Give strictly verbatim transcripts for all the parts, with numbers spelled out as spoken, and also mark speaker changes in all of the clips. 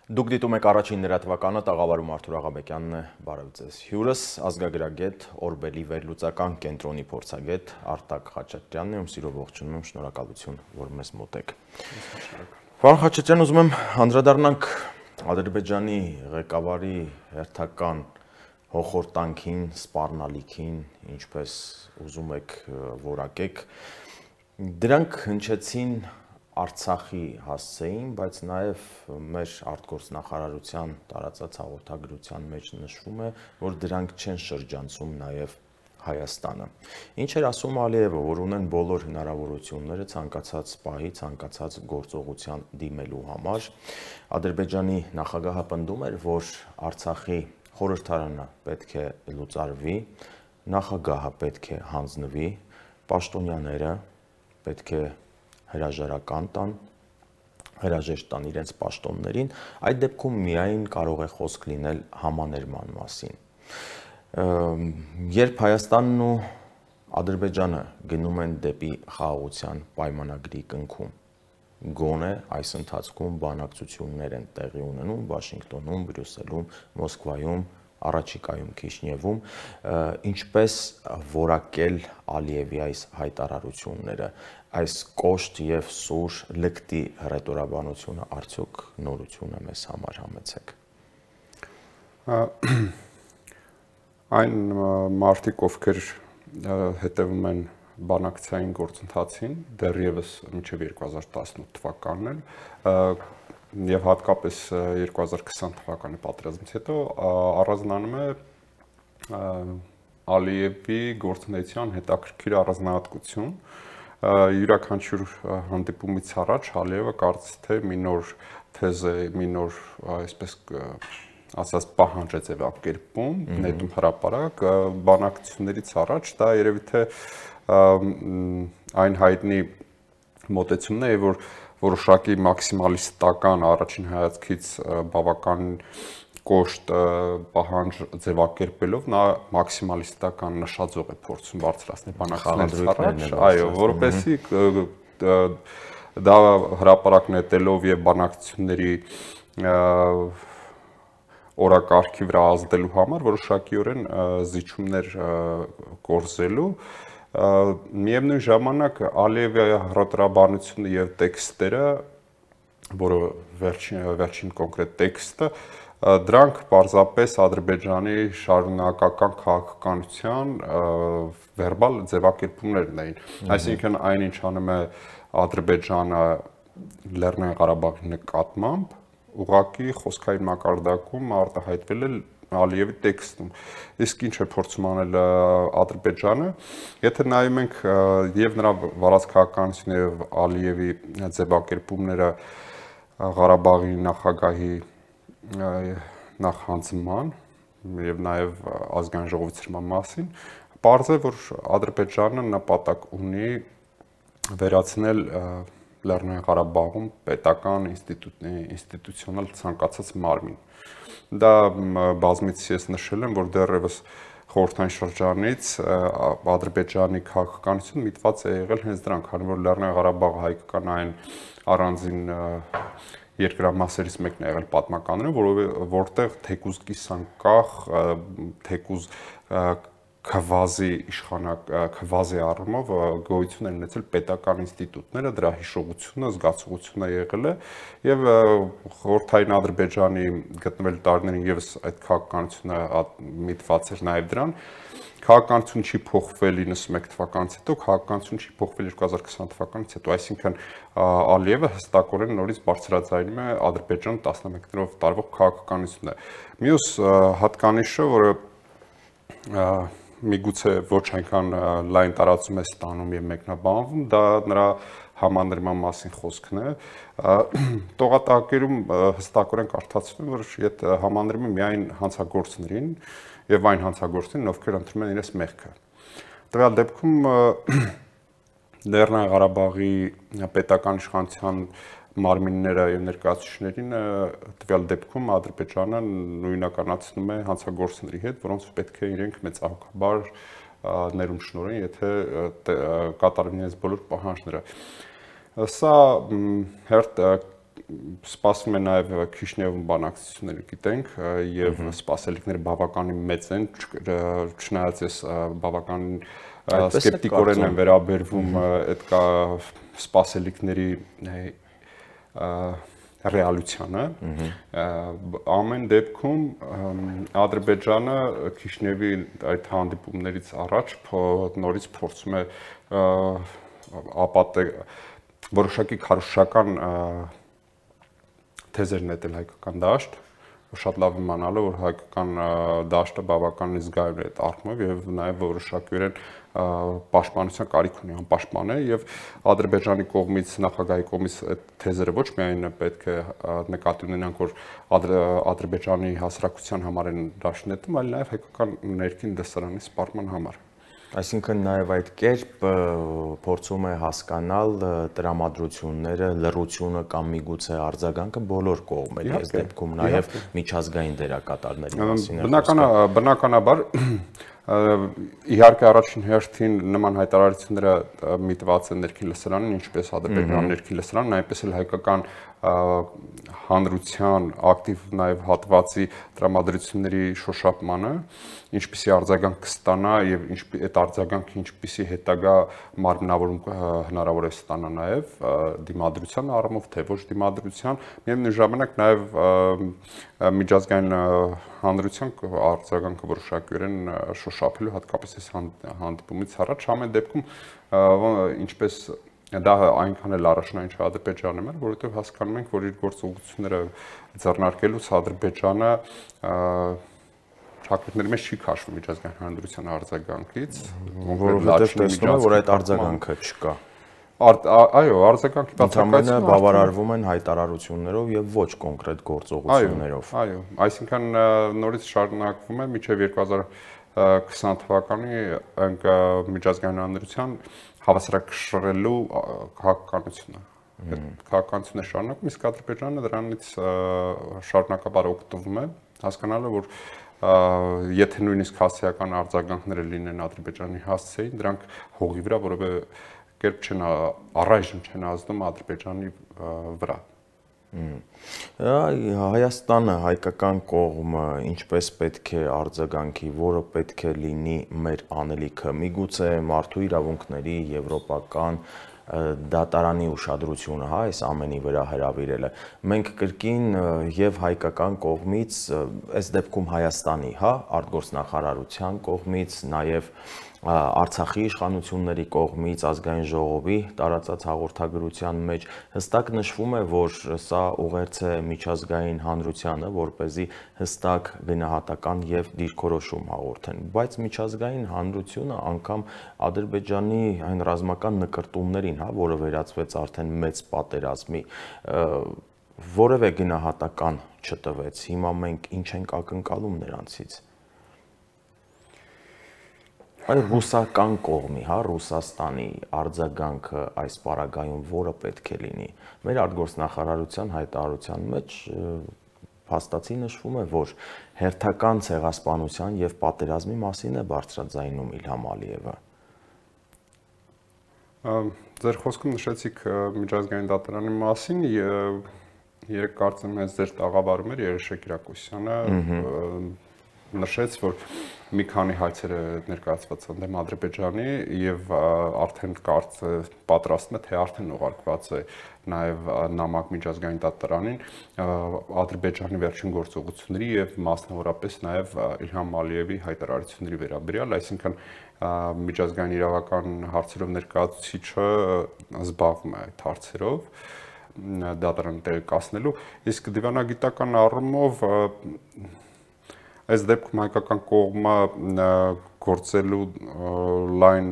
Speaker 1: Դուք դիտում եք առաջին լրատվականը, տաղավարում Արթուր Աղաբեկյանն է, բարև ձեզ։ Հյուրս ազգագրագետ, Օրբելի վերլուծական կենտրոնի փորձագետ Արտակ Խաչատրյանն է, ում սիրով ողջունում եմ, շնորհակալություն, որ մեզ մոտ եք։ Պարոն Խաչատրյան, ուզում եմ անդրադառնանք Ադրբեջանի ղեկավարի հերթական հոխորտանքին, սպառնալիքին, ինչպես ուզում եք որակեք։ Դրանք հնչեցին Արցախի հասցեին, բայց նաև մեր արտգործնախարարության տարածած հաղորդագրության մեջ նշվում է, որ դրանք չեն շրջանցում նաև Հայաստանը։ Ինչ էր ասում Ալիևը, որ ունեն բոլոր հնարավորությունները ցանկացած պահի, ցանկացած գործողության դիմելու համար։ Ադրբեջանի նախագահը պնդում էր, որ Արցախի խորհրդարանը պետք է լուծարվի, նախագահը պետք է հանձնվի, պաշտոնյաները պետք է հրաժարական տան, հրաժեշտ տան իրենց պաշտոններին, այդ դեպքում միայն կարող է խոսք լինել համաներման մասին։ Երբ Հայաստանն ու Ադրբեջանը գնում են դեպի խաղաղության պայմանագրի կնքում, գոնե այս ընթացքում բանակցություններ են տեղի ունենում Վաշինգտոնում, Բրյուսելում, Մոսկվայում, առաջիկայում Քիշնևում, ինչպես որակել Ալիևի այս հայտարարությունները, այս կոշտ եւ սուր լկտի հռետորաբանությունը արդյոք նորություն է մեզ համար, համեցեք։
Speaker 2: Այն մարդիկ, ովքեր հետևում են բանակցային գործընթացին, դեռևս մինչև երկու հազար տասնութ թվականն էլ եւ հատկապես երկու հազար քսան թվականի պատերազմից հետո առանձնանում է Ալիևի գործունեության հետաքրքիր առանձնահատկություն։ Յուրաքանչյուր հանդիպումից առաջ Ալիևը կարծես թե մի նոր թեզ է, մի նոր, այսպես ասած, պահանջ է ձևակերպում, նետում հրապարակ, բանակցություններից առաջ դա երևի թե այն հայտնի մոտեցումն է, որ որոշակի մաքսիմալիստական առաջին հայացքից բավական կոշտ պահանջ ձևակերպելով նա մաքսիմալիստական նշաձող է փորձում բարձրացնել բանակցություններից առաջ, այո, որովհետեւ դա հրապարակ նետելով եւ բանակցությունների օրակարգի վրա ազդելու համար որոշակիորեն զիջումներ կորզելու միևնույն ժամանակ Ալիևի հռետորաբանությունը եւ տեքստերը, որը վերջին վերջին կոնկրետ տեքստը, դրանք պարզապես Ադրբեջանի շարունակական քաղաքականության վերբալ ձևակերպումներն էին։ Այսինքն այնինչ անում է Ադրբեջանը Լեռնային Ղարաբաղի նկատմամբ, ուղղակի խոսքային մակարդակում արտահայտվել է Ալիևի տեքստում։ Իսկ ինչ է փորձում անել Ադրբեջանը, եթե նայում ենք եւ նրա վարած քաղաքականությունը եւ Ալիևի ձևակերպումները Ղարաբաղի նախագահի նախանձման եւ նաեւ ազգային ժողովի ցրման մասին, պարզ է, որ Ադրբեջանը նպատակ ունի վերացնել Լեռնային Ղարաբաղում պետական ինստիտուցիոնալ ցանկացած մարմին։ Դա բազմիցս ես նշել եմ, որ դեռևս խորհրդային շրջանից Ադրբեջանի քաղաքականությունը միտված է եղել հենց դրանք, քանի որ Լեռնային Ղարաբաղը հայկական այն առանձին երկրամասերից մեկն է եղել պատմականորեն, որտեղ թեկուզ կիսանկախ, թեկուզ քվազի իշխանակ, քվազի առումով գոյություն են ունեցել պետական ինստիտուտները, դրա հիշողությունը, զգացողությունը եղել է եւ խորհրդային Ադրբեջանի գտնվել տարիներին եւս այդ քաղաքականությունը միտված էր նաեւ դրան։ Քաղաքականություն չի փոխվել իննսունմեկ թվականից հետո, քաղաքականություն չի փոխվել երկու հազար քսան թվականից հետո, այսինքն Ալիևը հստակորեն նորից բարձրաձայնում է Ադրբեջանի տասնմեկներով տարվող քաղաքականությունը։ Մյուս հատկանիշը, որը միգուցե ոչ այնքան լայն տարածում է ստանում եւ մեկնաբանվում, դա նրա համաներման մասին խոսքն է։ Տողատակերում հստակորեն կարդացվում է, որ այդ համաներումը միայն հանցագործներին եւ այն հանցագործներին, ովքեր ընտրում են իրենց մեղքը։ Տվյալ դեպքում Լեռնային Ղարաբաղի պետական իշխանության մարմինները եւ ներկայացուցիչներին տվյալ դեպքում Ադրբեջանը նույնականացնում է հանցագործների հետ, որոնց պետք է իրենք մեծահոգաբար ներում շնորհեն, եթե կատարեն իրենց բոլոր պահանջները։ Սա հերթ սպասվում է նաև Քիշնևում բանակցություններ գիտենք եւ սպասելիքները բավականին մեծ են, չնայած ես բավական սկեպտիկորեն եմ վերաբերվում այդ կա սպասելիքների ռեալությանը։ Ամեն դեպքում Ադրբեջանը Քիշնևի այդ հանդիպումներից առաջ նորից փորձում է ապատել որոշակի քարոզչական թեզեր նետել հայկական դաշտ, շատ լավ իմանալը, որ հայկական դաշտը բավականին զգայուն է այդ առումով եւ նաեւ որոշակիորեն պաշտպանության կարիք ունի, անպաշտպան է եւ Ադրբեջանի կողմից, նախագահի կողմից այդ թեզերը ոչ միայն պետք է նկատի ունենանք, որ Ադրբեջանի հասարակության համար են դաշտ նետում, այլ նաեւ հայկական ներքին դասարանի սպառման համար։
Speaker 1: Այսինքն նաև այդ կերպ փորձում է հասկանալ տրամադրությունները, լռությունը կամ միգուցե արձագանքը բոլոր կողմերի, այս դեպքում նաև միջազգային դերակատարների մասին է
Speaker 2: խոսքը։ Բնականաբար իհարկե առաջին հերթին նման հայտարարությունները միտված են ներքին լսարանին, ինչպես Ադրբեջանի ներքին լսարանն, այնպես էլ հայկական հանրության ակտիվ նաև հատվածի տրամադրությունների շոշափմանը, ինչպիսի արձագանք կստանա եւ այդ արձագանքը ինչպիսի հետագա մարմնավորում հնարավոր է ստանա նաև դիմադրության առումով, թե ոչ դիմադրության, միևնույն ժամանակ նաև միջազգային հանրության արձագանքը որոշակիորեն շոշափելու հատկապես այս հանդիպումից առաջ ամեն դեպքում ինչպես դա այնքան էլ առաջնային չէ Ադրբեջանը մեր, որովհետև հասկանում ենք, որ իր գործողությունները ձեռնարկելուց Ադրբեջանը շահկետների մեջ չի քաշվում միջազգային հանրության արձագանքից,
Speaker 1: որովհետև տեսնում է, որ այդ արձագանքը չկա։
Speaker 2: Այո, արձագանքի
Speaker 1: բացակայությունը բավարարվում են հայտարարություններով եւ ոչ կոնկրետ գործողություններով։
Speaker 2: Այո, այսինքն նորից շարունակվում է մինչեւ երկու հազար քսան թվականի ենք միջազգային հանրության հավասարակշռելու քաղաքականությունը։ Այդ քաղաքականությունը շարունակում, իսկ Ադրբեջանը դրանից շարունակաբար օգտվում է, հասկանալը, որ եթե նույնիսկ հասարակական արձագանքները լինեն Ադրբեջանի հասցեին, դրանք հողի վրա որևէ կերպ չեն առայժմ չեն ազդում Ադրբեջանի վրա։
Speaker 1: Հայաստանը, հայկական կողմը ինչպես պետք է արձագանքի, որը պետք է լինի մեր անելիքը, միգուցե մարդու իրավունքների եվրոպական դատարանի ուշադրությունը, հա, այս ամենի վրա հրավիրելը։ Մենք կրկին եւ հայկական կողմից, այս դեպքում Հայաստանի, հա, արտգործնախարարության կողմից, նաեւ Արցախի իշխանությունների կողմից, ազգային ժողովի տարածած հաղորդագրության մեջ հստակ նշվում է, որ սա ուղերձ է միջազգային հանրությանը, որպեսզի հստակ գնահատական եւ դիրքորոշում հաղորդեն, բայց միջազգային հանրությունը անգամ Ադրբեջանի այն ռազմական նկրտումներին, հա, որը վերածվեց արդեն մեծ պատերազմի, որևէ գնահատական չտվեց։ Հիմա մենք ինչ ենք ակնկալում նրանցից։ Այլ ռուսական կողմի, հա, Ռուսաստանի արձագանքը այս պարագայում որը պետք է լինի։ Մեր արտգործնախարարության հայտարարության մեջ փաստացի նշվում է, որ հերթական ցեղասպանության եւ պատերազմի մասին է բարձրաձայնում Իլհամ Ալիևը։
Speaker 2: Ձեր խոսքում նշեցիք միջազգային դատարանի մասին, երեք կարծեմ ես ձեր տաղավարում էր Երեշեք Կիրակոսյանը նշեց, որ մի քանի հայցեր է ներկայացված ընդդեմ Ադրբեջանի եւ արդեն կարծը պատրաստում է, թե արդեն ուղարկված է նաեւ նամակ միջազգային դատարանին Ադրբեջանի վերջին գործողությունների եւ մասնավորապես նաեւ Իլհամ Ալիևի հայտարարությունների վերաբերյալ, այսինքն միջազգային իրավական հարցերով ներկայացուցիչը զբաղվում է այդ հարցերով դատարանը տեղեկացնելու, իսկ դիվանագիտական առումով այս դեպքում հայկական կողմը գործելու լայն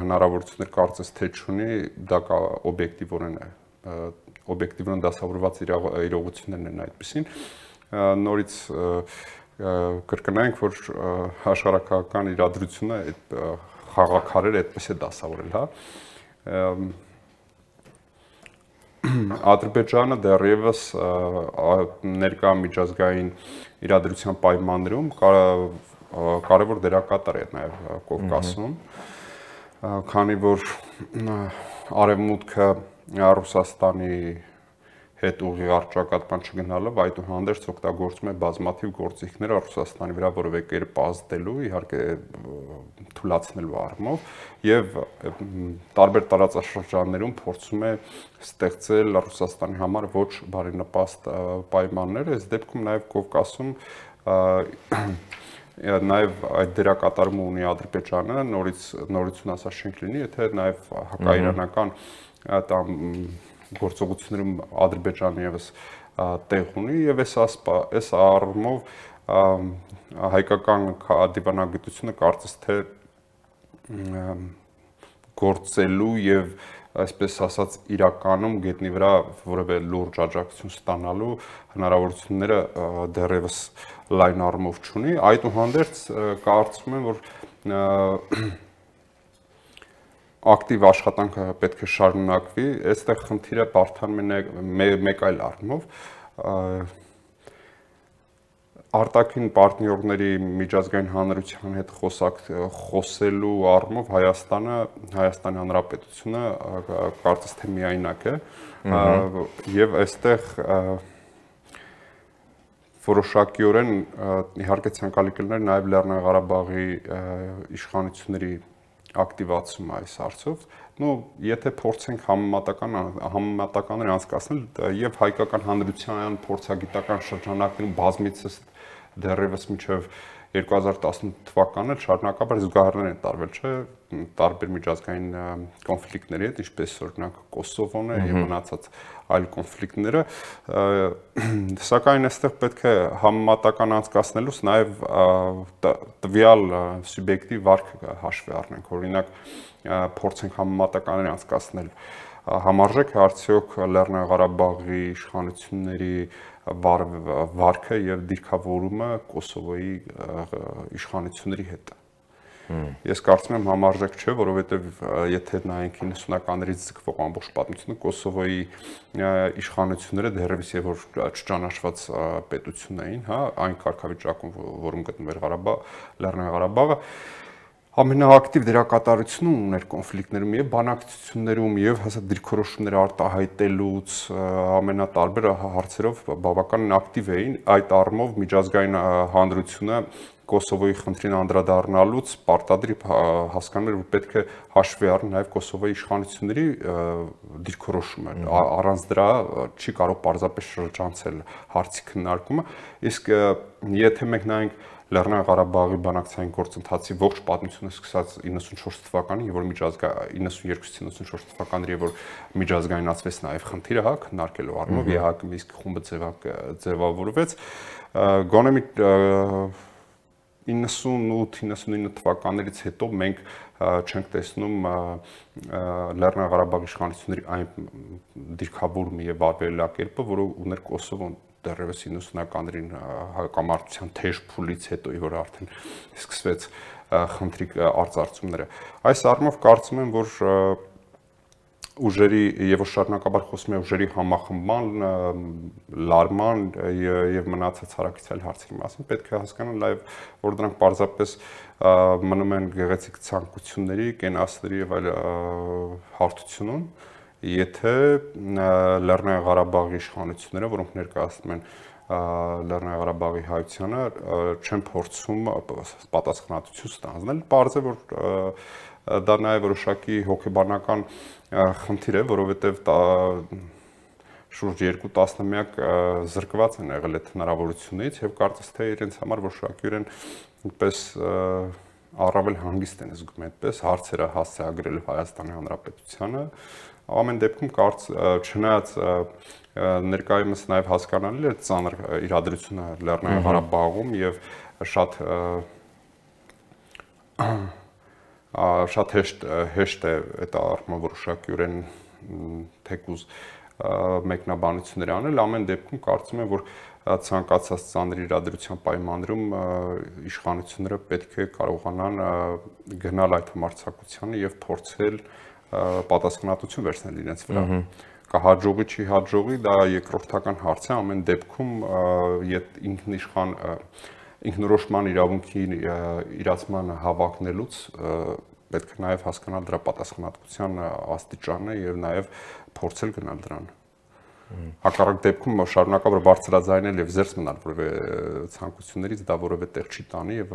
Speaker 2: հնարավորություններ կարծես թե չունի, դա կա օբյեկտիվորեն է, օբյեկտիվորեն դասավորված իրողություններն են այդպեսին, նորից կրկնենք, որ աշխարհակահաղական իրադրությունը այդ խաղաքարերը այդպես է դասավորել, հա։ Ադրբեջանը դեռևս ներկա միջազգային իրադրության պայմաններում կարևոր դերակատար է նաև Կովկասում, քանի որ արևմուտքը Ռուսաստանի հետ ուղիղ առճակատման չգնալով այդուհանդերձ օգտագործում է բազմաթիվ գործիքներ Ռուսաստանի վրա որևէ կերպ ազդելու, իհարկե թույլատնելու առումով եւ տարբեր տարածաշրջաններում փորձում է ստեղծել Ռուսաստանի համար ոչ բարենպաստ պայմաններ, այս դեպքում նաեւ Կովկասում Նաև այդ դերակատարումը ունի Ադրբեջանը, նորից նորություն ասած չենք լինի, եթե նաև հակաիրանական տամ գործողություններում Ադրբեջանը եւս տեղ ունի եւ այս այս առումով հայկական դիվանագիտությունը կարծես թե գործելու եւ այսպես ասած իրականում գետնի վրա որևէ լուրջ աջակցություն ստանալու հնարավորությունները դեռևս լայն առումով չունի, այդուհանդերձ կարծում եմ, որ ակտիվ աշխատանքը պետք է շարունակվի, այստեղ խնդիրը բարդանում է մեկ այլ առումով, արտաքին պարտներների միջազգային հանրության հետ խոսակ խոսելու առումով Հայաստանը, Հայաստանի Հանրապետությունը կարծես թե միայնակ է եւ այստեղ որոշակիորեն իհարկե ցանկալի կլիներ նաեւ Լեռնային Ղարաբաղի իշխանությունների ակտիվացումը այս հարցով, նո եթե փորձենք համեմատական համեմատականներ անցկացնել եւ հայկական հանրության փորձագիտական շրջանակներում բազմիցս դեռևս մինչև երկու հազար տասնութ թվականը շարունակաբար զուգահեռներ են տարվել, չէ, տարբեր միջազգային կոնֆլիկտների հետ, ինչպես օրինակ Կոսովոն է եւ մնացած այլ կոնֆլիկտները, սակայն այստեղ պետք է համեմատական անցկացնելուց նաեւ տվյալ սուբյեկտիվ վարքը հաշվի առնենք, օրինակ փորձենք համեմատականներ անցկացնել համարժեք է արդյոք Լեռնային Ղարաբաղի իշխանությունների վարքը եւ դիրքավորումը Կոսովոյի իշխանությունների հետ։ Ես կարծում եմ համարժեք չէ, որովհետեւ եթե նայենք իննսունականներից ձգվող ամբողջ պատմությունը Կոսովոյի իշխանությունները դեռևս եւ որ չճանաչված պետություն էին, հա, այն կարգավիճակում, որում գտնվում էր Ղարաբաղ, Լեռնային Ղարաբաղը ամենաակտիվ դերակատարությունը ուներ կոնֆլիկտներում եւ բանակցություններում եւ հաստատ դիրքորոշումներ արտահայտելուց ամենատարբեր հարցերով բավականին ակտիվ էին, այդ առումով միջազգային հանրությունը Կոսովոյի խնդրին անդրադառնալուց պարտադիր հասկանում էր, որ պետք է հաշվի առնել նաեւ Կոսովոյի իշխանությունների դիրքորոշումը, առանց դրա չի կարող պարզապես շրջանցել հարցի քննարկումը, իսկ եթե մենք նայենք Լեռնային Ղարաբաղի բանակցային գործընթացի ողջ պատմությունը սկսած իննսունչորս թվականին, եւ որ միջազգային իննսունյոթ իննսունչորս թվականների, եւ որ միջազգայնացվեց նաեւ խնդիրը, հա, քննարկելու առումով ԵԱՀԿ Մինսկ խումբը ձևավորվեց, գոնե մի իննսունութ իննսունինը թվականներից հետո մենք չենք տեսնում Լեռնային Ղարաբաղի իշխանությունների այն դիրքավորումը եւ վարվելակերպը, որը ուներ Կոսովոն դեռևս իննսունականներին հակամարտության թեժ փուլից հետո, որ արդեն սկսվեց խնդրի արծարծումները։ Այս առումով կարծում եմ, որ ուժերի եւ շարունակաբար խոսում է ուժերի համախմբման, լարման եւ մնացած հարակից հարցերի մասին, պետք է հասկանալ նաեւ, որ դրանք պարզապես մնում են գեղեցիկ ցանկությունների, կենասների եւ այլ հարթությունում, եթե Լեռնային Ղարաբաղի իշխանությունները, որոնք ներկայացնում են Լեռնային Ղարաբաղի հայությանը, չեն փորձում պատասխանատվություն ստանձնել, պարզ է, որ դա նաեւ որոշակի հոգեբանական խնդիր է, որովհետեւ շուրջ երկու տասնամյակ զրկված են եղել այդ հնարավորությունից եւ կարծես թե իրենց համար որոշակիորեն այնպես առավել հանգիստ են զգում այդպես հարցերը հասցեագրելու Հայաստանի Հանրապետությանը, ամեն դեպքում կարծ չնայած ներկայումս նաեւ հասկանալի է ծանր իրադրությունը Լեռնային Ղարաբաղում եւ շատ շատ հեշտ հեշտ է այդ առումով որոշակիորեն թեկուզ մեկնաբանություններ անել, ամեն դեպքում կարծում եմ, որ ցանկացած ծանր իրադրության պայմաններում իշխանությունները պետք է կարողանան գնալ այդ համարձակությանը եւ փորձել պատասխանատվություն վերցնել իրենց վրա։ Կհաջողի չի հաջողի, դա երկրորդական հարց է, ամեն դեպքում ինքնիշխան ինքնորոշման իրավունքի իրացման հավակնելուց պետք է նաեւ հասկանալ դրա պատասխանատվության աստիճանը եւ նաեւ փորձել գնալ դրան։ Հակառակ դեպքում շարունակաբար բարձրաձայնել եւ զերծ մնալ որևէ ցանկություններից դա որևէ տեղ չի տանի եւ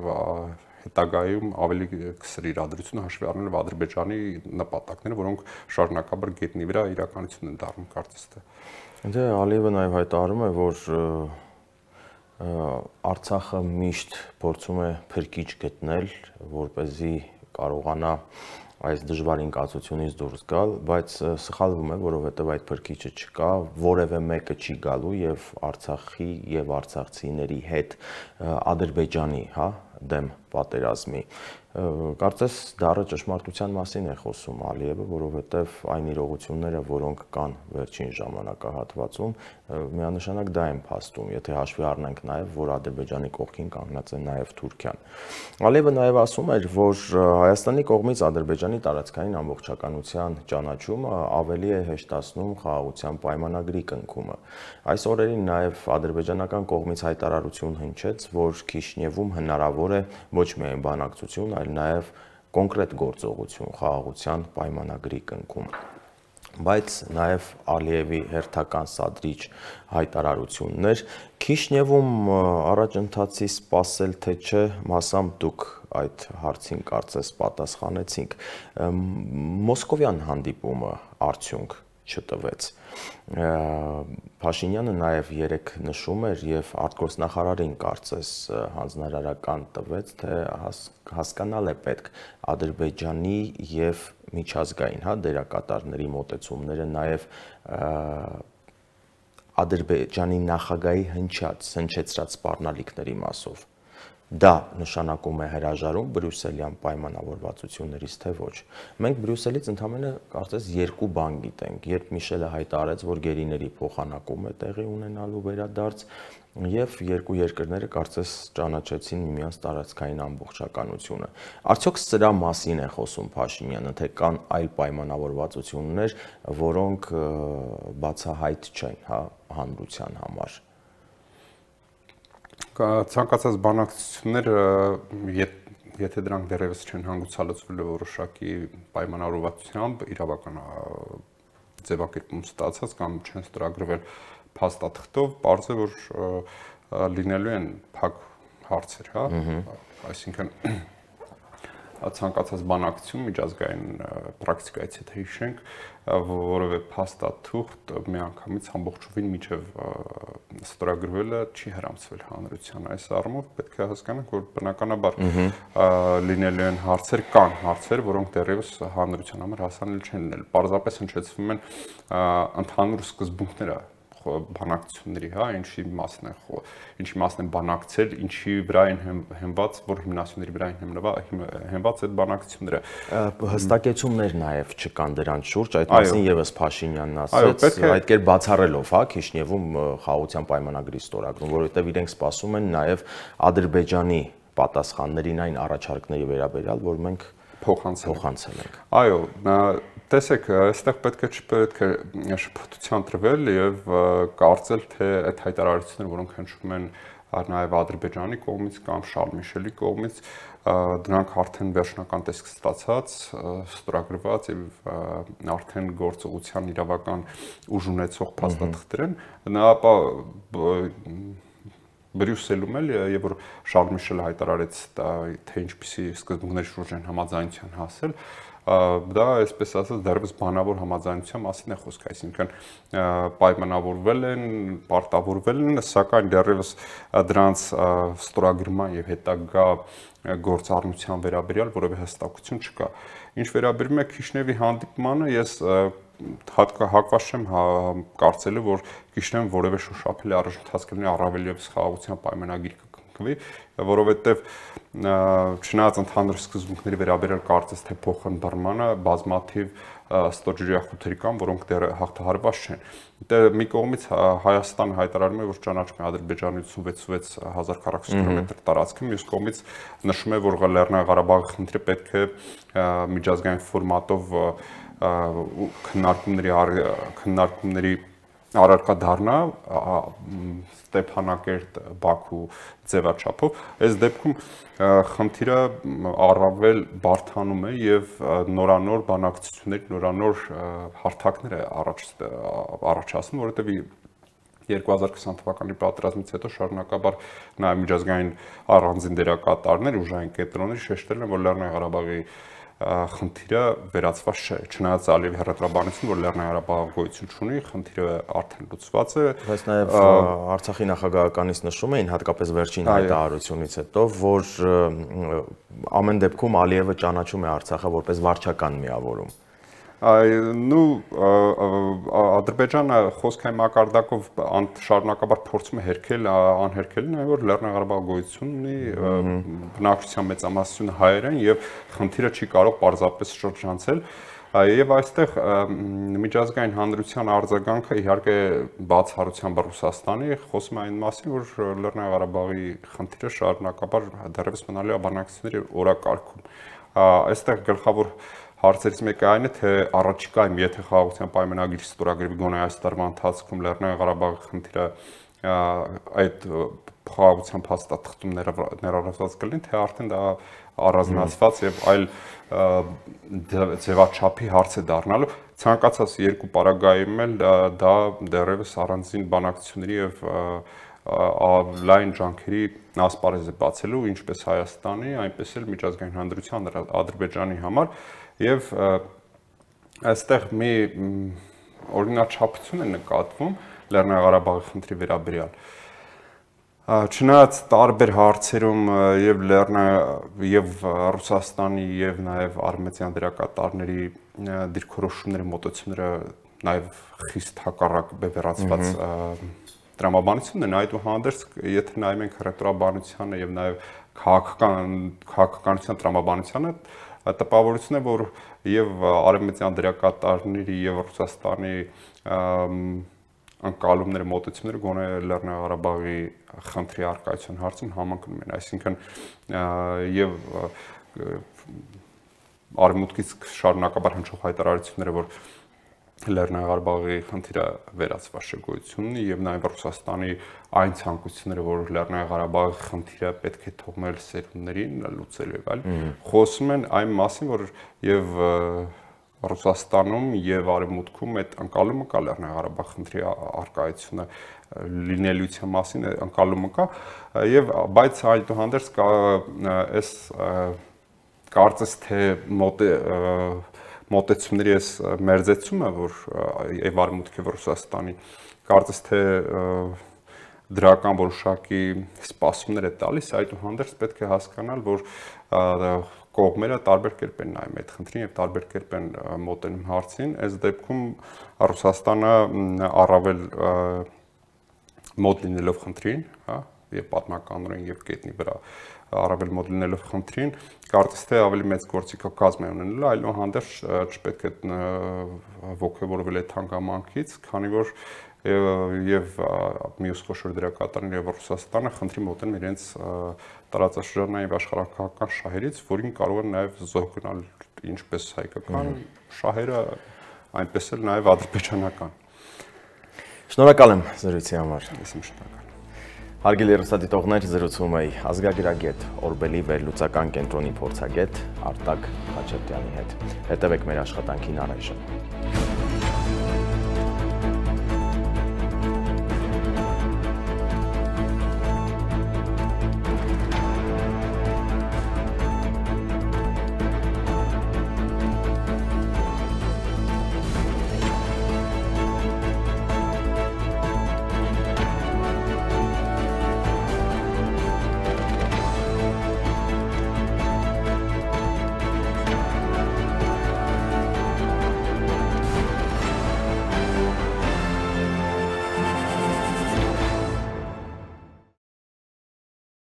Speaker 2: հետագայում ավելի կսրի իրադրությունը հաշվի առնելով Ադրբեջանի նպատակները, որոնք շարունակաբար գետնի վրա իրականություն են դառնում կարծես թե։
Speaker 1: Դե Ալիևը նաեւ հայտարարում է, որ Արցախը միշտ փորձում է փրկիչ գտնել, որպեսզի կարողանա այս դժվար ինքնացությունից դուրս գալ, բայց սխալվում է, որովհետև այդ փրկիչը չկա, որևէ մեկը չի գալու եւ Արցախի եւ արցախցիների հետ Ադրբեջանի, հա, դեմ պատերազմի։ Կարծես դառը ճշմարտության մասին է խոսում Ալիևը, որովհետև այն իրողությունները, որոնք կան վերջին ժամանակահատվածում, միանշանակ դա են փաստում, եթե հաշվի առնենք նաև, որ Ադրբեջանի կողքին կանգնած է նաև Թուրքիան։ Ալիևը նաև ասում էր, որ Հայաստանի կողմից Ադրբեջանի տարածքային ամբողջականության ճանաչումը ավելի է հեշտացնում խաղաղության պայմանագրի կնքումը։ Այս օրերին նաև ադրբեջանական կողմից հայտարարություն հնչեց, որ Քիշնևում հնարավոր է ոչ միայն բանակցություն, այլ նաև կոնկրետ գործողություն խաղաղության պայմանագրի կնքում։ Բայց նաև Ալիևի հերթական սադրիչ հայտարարություններ Քիշնևում առաջընթացի սպասել թե չէ, մասամբ դուք այդ հարցին կարծես պատասխանեցինք։ Մոսկովյան հանդիպումը արդյունք չտվեց։ Փաշինյանը նաև երեք նշում էր եւ արտգործնախարարին կարծես հանձնարարական տվեց, թե հասկանալ է պետք Ադրբեջանի եւ միջազգային, հա, դերակատարների մոտեցումները նաև Ադրբեջանի նախագահի հնչած, հնչեցրած սպառնալիքների մասով։ Դա նշանակում է հրաժարում բրյուսելյան պայմանավորվածություններից, թե ոչ։ Մենք Բրյուսելից ընդամենը կարծես երկու բան գիտենք, երբ Միշելը հայտարարեց, որ գերիների փոխանակում է տեղի ունենալու վերադարձ, եւ երկու երկրները կարծես ճանաչեցին միմյանց տարածքային ամբողջականությունը։ Արդյոք սրա մասին է խոսում Փաշինյանը, թե կան այլ պայմանավորվածություններ, որոնք բացահայտ չեն, հա, հանրության համար։
Speaker 2: Ցանկացած բանակցությունները, եթե դրանք դեռևս չեն հանգուցալուծվել որոշակի պայմանավորվածությամբ, իրավական ձևակերպում ստացած կամ չեն ստորագրվել փաստաթղթով, պարզ է, որ լինելու են փակ հարցեր, հա, այսինքն ցանկացած բանակցություն միջազգային պրակտիկայից եթե հիշենք, որևէ փաստաթուղթ միանգամից ամբողջովին միջև ստորագրվելը չի հրամցվել հանրության։ Այս առումով պետք է հասկանանք, որ բնականաբար լինելու են հարցեր, կան հարցեր, որոնք դեռևս հանրության համար հասանելի չեն լինել։ Պարզապես հնչեցվում են ընդհանուր սկզբունքները բանակցությունների, հա, ինչի մասն է, ինչի մասն է բանակցել, ինչի վրա են հենված, որ հիմնասյուների վրա են հենված այդ բանակցությունները։
Speaker 1: Հստակեցումներ նաև չկան դրանց շուրջ, այդ մասին եւս Փաշինյանն ասաց, այդ կերպ բացառելով, հա, Քիշնևում խաղաղության պայմանագրի ստորագրում, որովհետեւ իրենք սպասում են նաև Ադրբեջանի պատասխաններին այն առաջարկների վերաբերյալ, որ մենք փոխանցել ենք։
Speaker 2: Այո, տեսեք, այստեղ պետք է չպետք է շփոթության տրվել եւ կարծել, թե այդ հայտարարությունները, որոնք հնչում են նաև Ադրբեջանի կողմից կամ Շարլ Միշելի կողմից, դրանք արդեն վերջնական տեսք ստացած, ստորագրված եւ արդեն գործողության իրավական ուժ ունեցող փաստաթղթեր են, ապա Բրյուսելում էլ եւ որ Շարլ Միշելը հայտարարեց, թե ինչպիսի սկզբունքների շուրջ են համաձայնության հասել, դա այսպես ասած դեռևս բանավոր համաձայնության մասին է խոսք, այսինքն պայմանավորվել են, պարտավորվել են, սակայն դեռևս դրանց ստորագրման եւ հետագա գործառնության վերաբերյալ որևէ հստակություն չկա։ Ինչ վերաբերում է Քիշնևի հանդիպմանը, ես հակված չեմ կարծելու, որ Քիշնևը որևէ շոշափելի առաջընթաց կլինի առավել եւս խաղաղության պայմանագիր կկնքվի, որովհետեւ չնայած ընդհանուր սկզբունքների վերաբերյալ կարծես թե փոխընդրմանը բազմաթիվ ստորջրյախութերի կան, որոնք դեռ հաղթահարված չեն։ Դե մի կողմից Հայաստանը հայտարարում է, որ ճանաչում է Ադրբեջանի ութսունվեց հազար քառակուսի կիլոմետր տարածքը, մյուս կողմից նշում է, որ Լեռնային Ղարաբաղի խնդիրը պետք է միջազգային ֆորմատով քննարկումների քննարկումների առարկա դառնա Ստեփանակերտ Բաքու ձևաչափով, այս դեպքում խնդիրը առավել բարդանում է եւ նորանոր բանակցություններ, նորանոր հարթակներ է առաջ առաջացնում, որովհետեւ երկու հազար քսան թվականի պատերազմից հետո շարունակաբար նաեւ միջազգային առանձին դերակատարներ, ուժային կենտրոններ շեշտել են, որ Լեռնային Ղարաբաղի խնդիրը վերացված չէ, չնայած Ալիևի հռետորաբանություն, որ Լեռնային Ղարաբաղը գոյություն չունի, խնդիրը արդեն լուծված է։
Speaker 1: Բայց նաև Արցախի նախագահականից նշում էին, հատկապես վերջին հայտարարությունից հետո, որ ամեն դեպքում Ալիևը ճանաչում է Արցախը որպես վարչական միավորում։
Speaker 2: Նու Ադրբեջանը խոսքային մակարդակով շարունակաբար փորձում է հերքել անհերքելին, այն որ Լեռնային Ղարաբաղը գոյություն ունի, բնակչության մեծամասնությունը հայեր են եւ խնդիրը չի կարող պարզապես շրջանցել։ Եվ այստեղ միջազգային հանրության արձագանքը իհարկե բացառությամբ Ռուսաստանի խոսում է այն մասին, որ Լեռնային Ղարաբաղի խնդիրը շարունակաբար դեռևս մնալու է բանակցությունների օրակարգում։ Այստեղ գլխավոր հարցերից մեկը այն է, թե առաջիկայում, եթե խաղաղության պայմանագրի ստորագրվի գոնե այս տարվա ընթացքում Լեռնային Ղարաբաղի խնդիրը այդ խաղաղության փաստաթղթում ներառված կլինի, թե արդեն դա առանձնացված եւ այլ ձևաչափի հարց է դառնալու։ Ցանկացած երկու պարագայում էլ դա դեռևս առանձին բանակցությունների եւ լայն ջանքերի ասպարեզ է բացելու ինչպես Հայաստանի, այնպես էլ միջազգային հանրության Ադրբեջանի համար եւ այստեղ մի օրինաչափություն է նկատվում Լեռնային Ղարաբաղի խնդրի վերաբերյալ։ Չնայած տարբեր հարցերում եւ Լեռնային եւ Ռուսաստանի եւ նաեւ արմենիական դերակատարների դիրքորոշումների մոտեցումները նաեւ խիստ հակառակ բևեռացված տրամաբանությունն են, այդուհանդերձ եթե նայում ենք հռետորաբանությանը եւ նաեւ քաղաքական քաղաքականության տրամաբանությանը տպավորություն է, որ եւ արմենիական դերակատարների եւ Ռուսաստանի անկալումները մոտեցումները գոնե Լեռնային Ղարաբաղի խնդրի առկայության հարցում համընկնում են, այսինքն եւ արևմուտքից շարունակաբար հնչող հայտարարությունները, որ Լեռնային Ղարաբաղի խնդիրը վերացված է գոյությունի եւ նաեւ Ռուսաստանի այն ցանկությունները, որ Լեռնային Ղարաբաղի խնդիրը պետք է թողնել սերունդներին լուծելու եւ այլ, խոսում են այն մասին, որ եւ Ռուսաստանում եւ Արևմուտքում այդ անկալումը կա Լեռնային Ղարաբաղի խնդրի առկայությունը լինելիության մասին անկալումը կա եւ բայց այդուհանդերձ կա այս կարծես թե մոտ մոտեցումների այս մերձեցումը, որ եւ Արևմուտքի Ռուսաստանի կարծես թե դրական որոշակի սպասումներ է տալիս, այդուհանդերձ պետք է հասկանալ, որ կողմերը տարբեր կերպ են նայում այդ խնդրին եւ տարբեր կերպ են մոտենում հարցին։ Այս դեպքում Ռուսաստանը առավել մոտ լինելով խնդրին, հա, եւ պատմականորեն եւ կետնի վրա առավել մոտ լինելով խնդրին, կարծես թե ավելի մեծ գործիքակազմ է ունենալու, այլուհանդերձ չպետք է ոգևորվել այդ հանգամանքից, քանի որ եւ մյուս խոշոր դերակատարներ եւ Ռուսաստանը խնդրի մոտեն իրենց տարածաշրջանային եւ աշխարհակահաղական շահերից, որին կարող են նաեւ զոհ գնալ ինչպես հայկական շահերը, այնպես էլ նաեւ ադրբեջանական։
Speaker 1: Շնորհակալ եմ զրույցի համար։
Speaker 2: Ես եմ շնորհակալ։
Speaker 1: Հարգելի հեռուստադիտողներ, զրուցում էի ազգագրագետ Օրբելի վերլուծական կենտրոնի փորձագետ Արտակ Խաչատրյանի հետ։ Հետևեք մեր աշխատանքին առայժմ։